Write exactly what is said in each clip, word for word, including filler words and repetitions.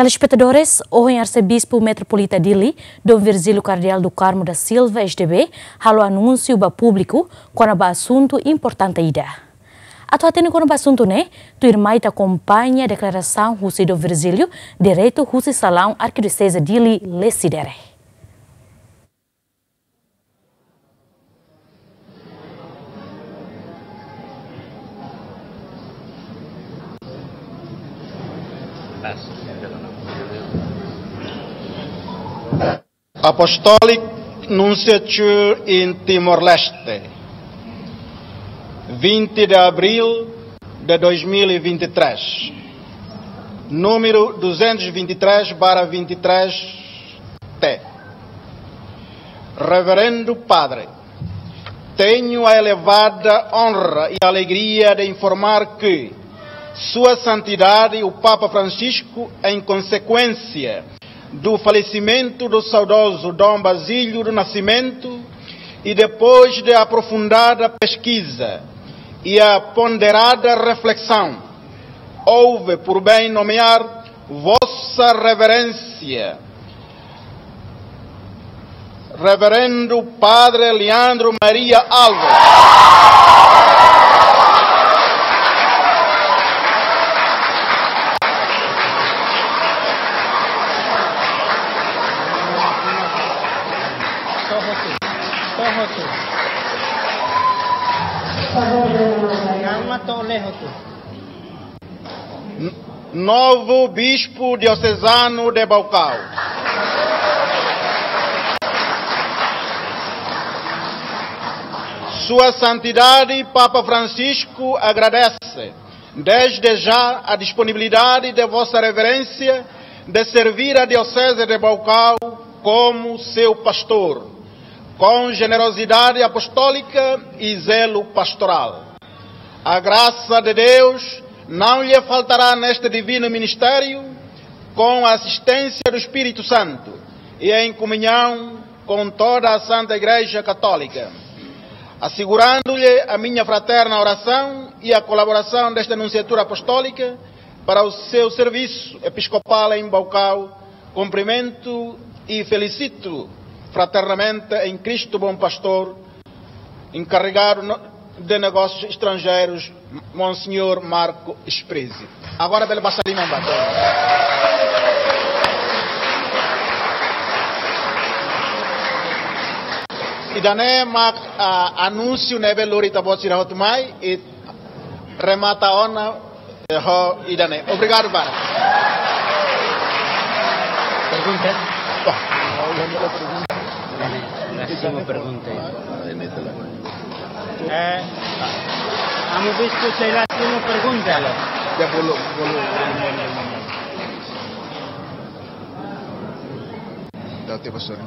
Telespetadores, ohin Arsebispu Metropolita Dili, Dom Virgílio Kardeál do Carmo da Silva, S D B, halo anúnsiu ba públiku kona-ba asuntu importante ida. Atu hatene kona-ba asuntu ne'e, tuirmai ita akompaña deklarasaun husi Dom Virgílio, diretu husi salaun Arkidioseze Dili, Lecidere. Apostolic Nunciature in Timor-Leste, vinte de abril de dois mil e vinte e três, número duzentos e vinte e três barra vinte e três T. Reverendo Padre, tenho a elevada honra e alegria de informar que Sua Santidade, o Papa Francisco, em consequência do falecimento do saudoso Dom Basílio do Nascimento, e depois de aprofundada pesquisa e a ponderada reflexão, houve por bem nomear Vossa Reverência, Reverendo Padre Leandro Maria Alves. Calma, to'o lehos tu. N-, novo Bispo Diocesano de Baucau. Sua Santidade Papa Francisco agradece, desde já, a disponibilidade de Vossa Reverência de servir a Diocese de Baucau como seu pastor, com generosidade apostólica e zelo pastoral. A graça de Deus não lhe faltará neste divino ministério, com a assistência do Espírito Santo e em comunhão com toda a Santa Igreja Católica, assegurando-lhe a minha fraterna oração e a colaboração desta Nunciatura Apostólica para o seu serviço episcopal em Baucau. Cumprimento e felicito fraternamente em Cristo Bom Pastor, encarregado no-, de negócios estrangeiros, Monsenhor Marco Sprezzi. Agora bele basa liman ba. Ida-ne'e mak, ah, anúnsiu ne'ebé lori ita-boot sira hotu mai, i remata ona, eh, ho ida-ne'e. Obrigadu barak. Pergunta? Wah. Ida-ne'e, la simu pergunta. Eh, Amu Bispu, sei la simu pergunta. Ya, bolu, bolu. Dau te pastor.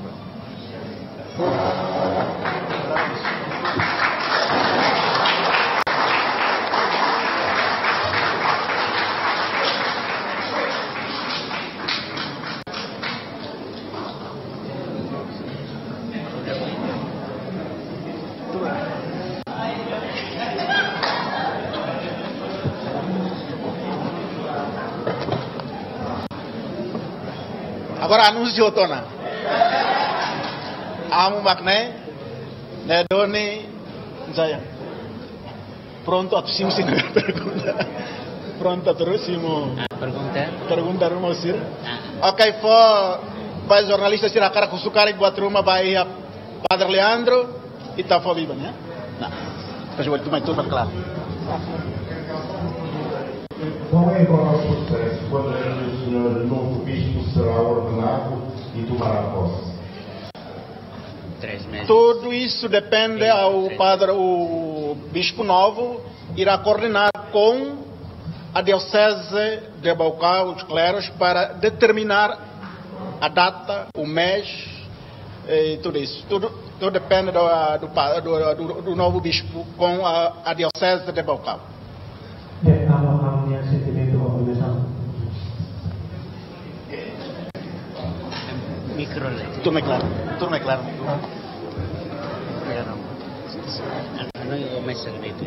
Agora anúnsiu hotu ona. Amu mak ne'e, ne'e duni, saya. Prontu atu simu sira-nia pergunta. Prontu atu simu. Ah, pergunta? Pergunta ruma sira. Ah. Ok, fó ba jornalista sira hakarak husu karik buat ruma ba iha Padre Leandro, ita fó biban, ya? Nah. Depois buat ruma itu berkelar. Qual é agora o processo? Quando é que o senhor novo bispo será ordenado e tomará posse? Três meses. Tudo isso depende ao padre, o bispo novo irá coordenar com a diocese de Baucau, os cleros, para determinar a data, o mês, eh, e tudo isso. Tudo, tudo depende do, do pa-, do, do, do novo bispo com a, a diocese de Baucau. Ya, amu, amu-nia sentimentu ba obrigasaun. Mikro le. Tuirmai klaru, tuirmai klaru. Ya, no. Anu, o mesa de itu.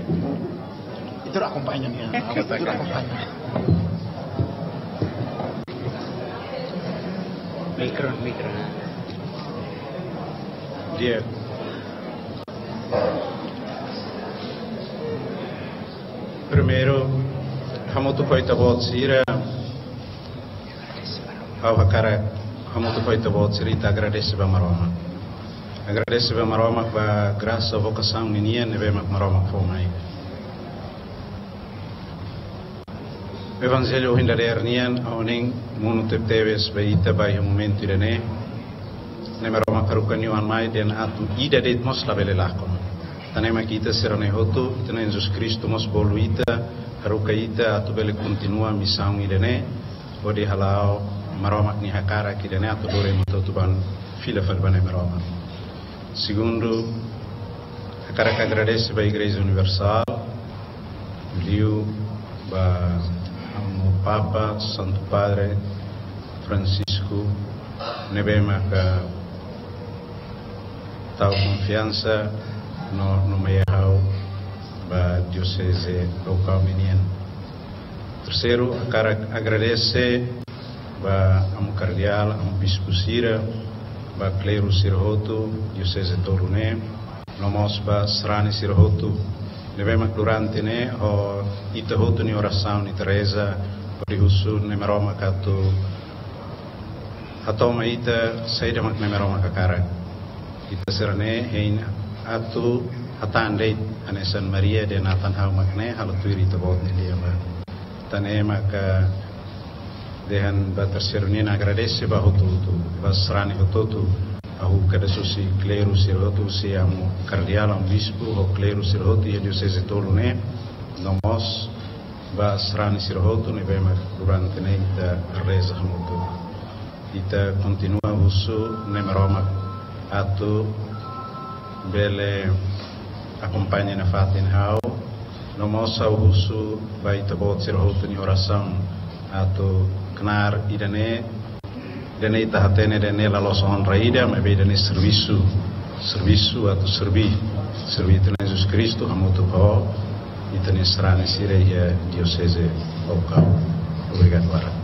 Ita akompaña, ya. Ita akompaña. Mikro, mikro. Di'ak. Primeiru, hamutuk ho ita-boot sira, ha'u hakarak hamutuk ho ita-boot sira ita agradese ba Maromak. Agradese ba Maromak ba grasa vokasaun ninian ne'ebé mak Maromak fó mai. Evanjellu ohin dadeer nian, ha'u-nia monu tebetebes ba ita ba iha momentu ida-ne'e. Ne'e Maromak haruka nia Oan mai dehan atu ida de'it mós labele lakon. Tan ne'e mak ita sira-ne'e hotu, ita-nia Jesus Kristu mós bolu ita, haruka ita atu bele kontinua misaun ida-ne'e, hodi hala'o Maromak nia hakarak ida-ne'e atu lori ema hotu-hotu ba fila fali ba Nai Maromak. Segundu, hakarak agradese ba Igreja Universál, liu ba Amu Papa, Santu Padre Francisco, ne'ebé maka tau konfiansa no, no nomeia ha'u ba Dioseze Baucau nian. Terseiru, hakarak agradese ba Amu Kardeál, Amu Bispu sira, ba kleru sira hotu, Dioseze tolu ne'e, no mós ba sarani sira hotu, ne'ebé mak durante ne'e, ho ita hotu nia orasaun, ita reza, hodi husu Nai Maromak atu hato'o mai ita saida mak Nai Maromak hakarak. Ita sira-ne'e hein atu hatán de'it hanesan Maria dehan atan ha'u mak ne'e halo tuir ita-boot nia lian ba. Tan ne'e maka dehan ba terseiru nian agradese ba hotu-hotu, ba sarani hotu-hotu. Ha'u haruka husu kleru sira hotu, husi Amu Kardeál, Amu Bispu, ho kleru sira hotu iha Dioseze tolu ne'e, no mós ba sarani sira hotu ne'ebé mak durante ne'e ita reza hamutuk. Ita kontinua husu Nai Maromak atu bele akompaña nafatin ha'u, no mós ha'u husu ba ita-boot sira hotu nia orasaun atu knaar ida-ne'e, ida-ne'e ita hatene dehan ne'e la loos onra ida, maibé ida-ne'e servisu, servisu atu serví, serví ita-nia Jesus Kristu hamutuk ho ita-nia sarani sira iha Dioseze Baucau. Obrigadu barak.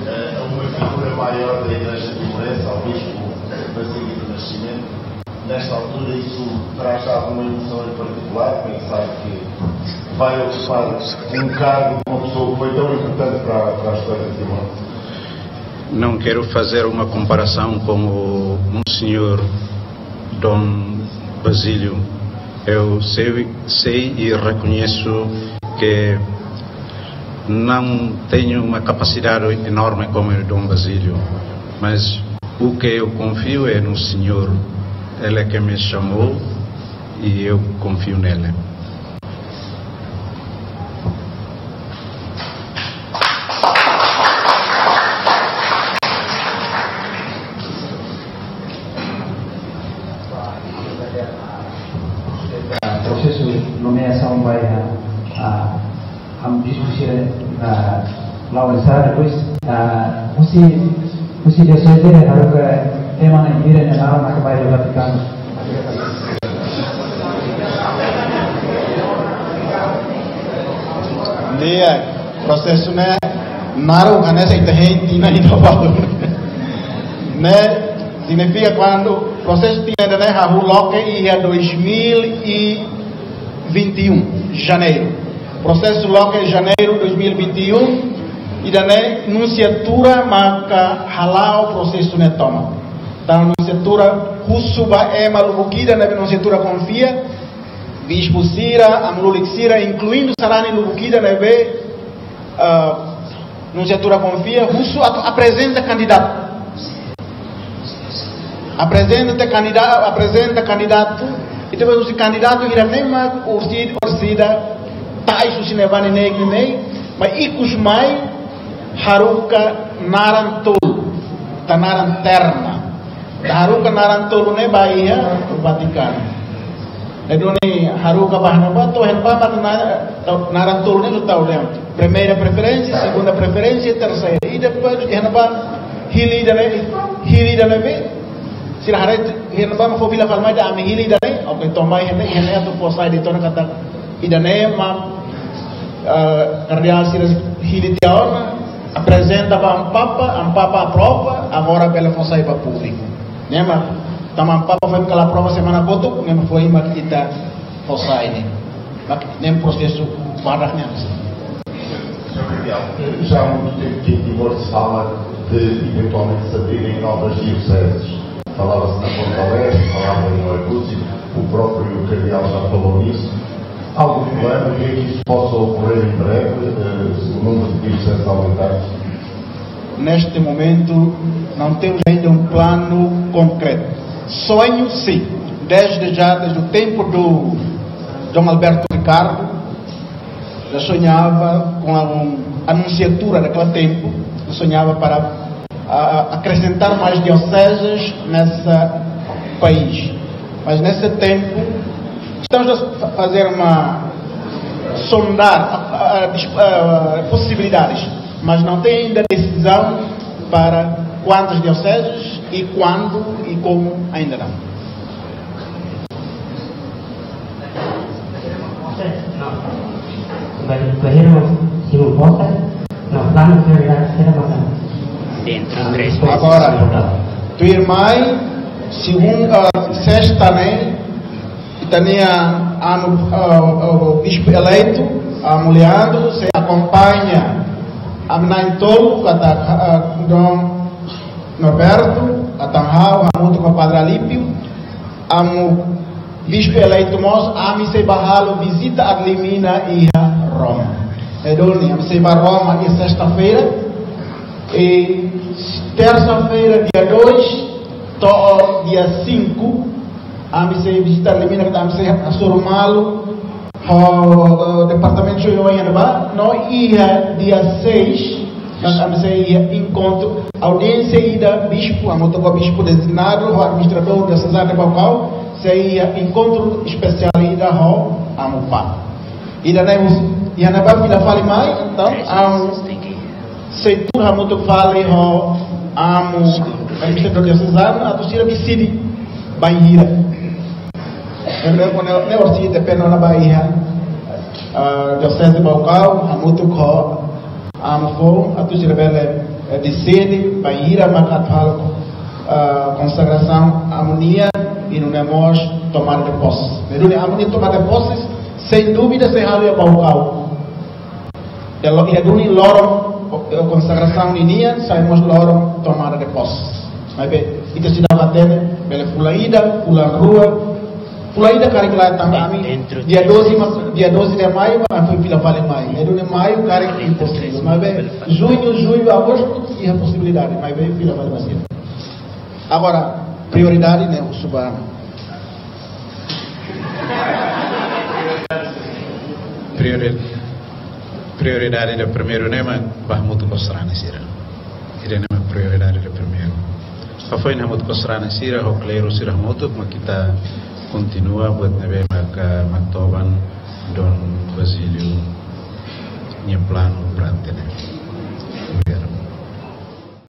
É uma figura maior da Igreja Timor-Leste, ao Bispo Basílio do Nascimento. Nesta altura, isso traz alguma emoção em particular, pensar que vai ocupar um cargo de uma pessoa que foi tão importante para, para a história de Timor. Não quero fazer uma comparação com o Monsenhor Dom Basílio. Eu sei, sei e reconheço que não tenho uma capacidade enorme como o Dom Basílio, mas o que eu confio é no Senhor. Ele é que me chamou e eu confio nele. Prosesu nomeasaun ba, ah, ah, Amu Bispu sira, ah, la'o ensara depois, ah, husi, husi Dioseze haruka ema na'in-hira nia naran mak ba iha Vatikanu. Di'ak, prosesu ne'e naruk hanesan ita hein tinan ida balu. Ne'e signifika kuandu prosesu tinan ida-ne'e hahú loke iha dois mil e vinte e um, janeiru. Prosesu loke janeiru dois mil e vinte e um, ida-ne'e nunsiatura maka hala'o prosesu ne'e tomak. Tan nunsiatura husu ba ema lubuk ida ne'ebé nunsiatura konfia, bispu sira, amu lulik sira, inkluindu sarani lubuk ida ne'ebé, ah, nunsiatura konfia, husu atu aprezenta kandidatu. Aprezenta kandidatu, aprezenta kandidatu, ita bá husi kandidatu ida-ne'e mak orsida, orsida ta'es husi ne'ebá ne'e, ne'e, ne'e, maibé ikus mai haruka naran tolu, tan naran terna. Haruka naran tolu ne'e ba iha Vatikanu. Ne'e duni haruka ba iha ne'ebá, to'o iha ne'ebá mak na-, naran tolu ne'e tau dehan primeira preferência, segunda preferência, terceira. I depois iha ne'ebá hili ida-ne'e, hili ida-ne'ebé. Sira haree iha ne'ebá mak fó fila fali mai dehan ami hili ida-ne'e. Oke, to'o mai iha ne'e, iha ne'e atu fó sai de'it ona katak Ida-ne'e mak, eh, kardeál sira hili tiha ona, aprezenta ba Amu Papa, Amu Papa aprova, agora bele fó sai ba públiku. Ne'e mak, tanba Amu Papa foin kala aprova semana kotuk, ne'e mak foin mak ita fó sai ne'e. Mak ne'e prosesu badak ne'e. Señor Cardeal, eh, já há muito tempo que em Timor se fala de eventualmente se abrirem novas dioceses. Falava-se na Ponta Leste, falava em Oecusse, o próprio Cardeal já falou nisso. Algum plano, o que é que isso possa ocorrer em breve, eh, o número de dioceses aumentados? Neste momento, não temos ainda um plano concreto. Sonho, sim. Desde já, desde o tempo do Dom Alberto Ricardo, já sonhava com a, um, a nunciatura daquele tempo, eu sonhava para a, a acrescentar mais dioceses nesse país. Mas nesse tempo, estamos a fa-, fazer uma sondar a, a, a dis-, a possibilidades, mas não tem ainda decisão para quantas dioceses e quando e como ainda não. Ba-, bainhira simu posta, no planu prioridade sira maka. Dentro três meses. Agora, tuirmai, segunda, sesta ne'e, ita-nia Amu, ah, ah, bispu eleitu, Amu Leandro, sei akompaña Amu na'in-tolu, katak, ah, Dom Norberto, katak ha'u, hamutuk ho Padre Alípio, Amu bispu eleitu mós, ami sei bá halo vizita ad limina iha Roma. Ne'e duni, ami sei bá Roma iha sesta-feira. I tersa-feira, dia dois, to'o dia cinco, ami sei vizita ad limina, ami sei hasoru malu ho, eh, departamentu oioin ne'ebá, no iha dia seis, ami sei iha enkontru, audiénsia ida bispu, hamutuk ho bispu dezignadu, ho administradór diosezanu de Baucau, sei iha enkontru espesiál ida ho Amu Papa. Ida-ne'e husi, iha ne'ebá fila fali mai, entaun, Amu sei tuur hamutuk fali ho Amu administradór diosezanu, atu sira deside bainhira. Ne'e, ne'e, ne'e orsida depende ona ba iha, ah, dioseze Baucau, hamutuk ho Amu foun, atu sira bele, eh, deside bainhira maka atu halo, ah, konsagrasaun Amu nian, i nune'e mós tomada de posse. Ne'e duni Amu nian tomada de posse, sem dúvida, sei halo iha Baucau. Iha lo-, iha duni loron, eh, konsagrasaun ninian, sai mós loron tomada de posse. Maibé, ita seidauk hatene, bele fulan ida, fulan rua, fulan ida karik lae tanba ami, dia doze ma-, dia doze de maio, ami foin fila fali mai. Ne'e duni maio, karik imposivel. Maibé, juñu, jullu, agostu, iha posibilidade, maibé, fila fali mai. Agora, prioridade, ne'e, husu ba. Priori-, prioridade ida primeiru ne'e mak bá hamutuk ho sarani sira. Ida-ne'e mak prioridade ida primeiru. Hafoin hamutuk ho sarani sira, ho kleru sira hamutuk, mak ita kontinua buat ne'ebé mak, ah, Matoban Dom Basílio nia planu durante ne'e.